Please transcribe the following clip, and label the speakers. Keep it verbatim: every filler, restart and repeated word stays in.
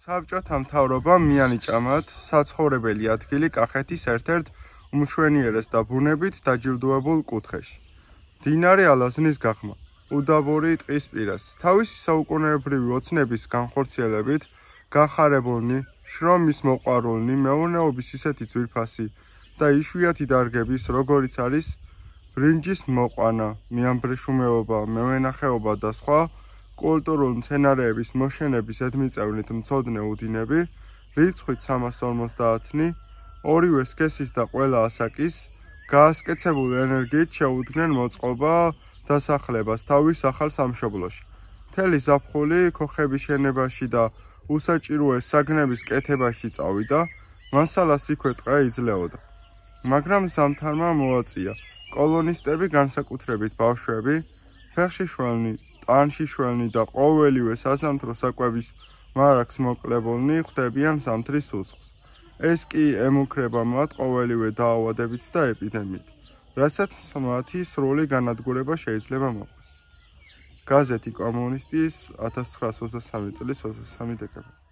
Speaker 1: საბჭოთა მთავრობამ მიანიჭამათ საცხოვრებელი ადგილი კახეთის ერთ-ერთ უმშვენიერეს და ბუნებით დაჯილდოებულ კუთხეში. მდინარე ალაზნის გაღმა, უდაბური ტყის პირას, თავისი საუკუნეებრივი ოცნების განხორციელებით გახარებულნი, შრომის მოყვარულნი, მეურნეობის ისეთი ძვირფასი და იშვიათი დარგების, როგორიც არის ბრინჯის მოყვანა, მეამბრეშუმეობა, მევენახეობა და სხვა კულტურულ მცენარეების მოშენების ზედმიწევნით მცოდნე უდინები, რიცხვით სამას ორმოცდაათნი, ორივე სქესის და ყველა ასაკის, გაასკეცებული ენერგიით შეუდგნენ მოწყობა დასახლებას თავის ახალ სამშობლოში. მთელი ზაფხული ქოხების შენებაში და უსაჭიროეს საგნების კეთებაში წავიდა, მასალას იქვე ტყე იძლეოდა. მაგრამ ზამთარმა მოაწია, კოლონისტები, განსაკუთრებით ბავშვები, ფეხში შველნი, ტანში შველნი და ყოველივე საზამთრო საკვების მარაგს მოკლებულნი ხვდებიან ზამთრის უსხს. ეს კი ემუქრება მათ ყოველივე დაავადებით და ეპიდემიით, რასაც მათი სრული განადგურება შეიძლება მოყვეს. გაზეთი კომუნისტის ათას ცხრაასი ოცდასამი წლის ოცდამეცხრე დეკემბერი.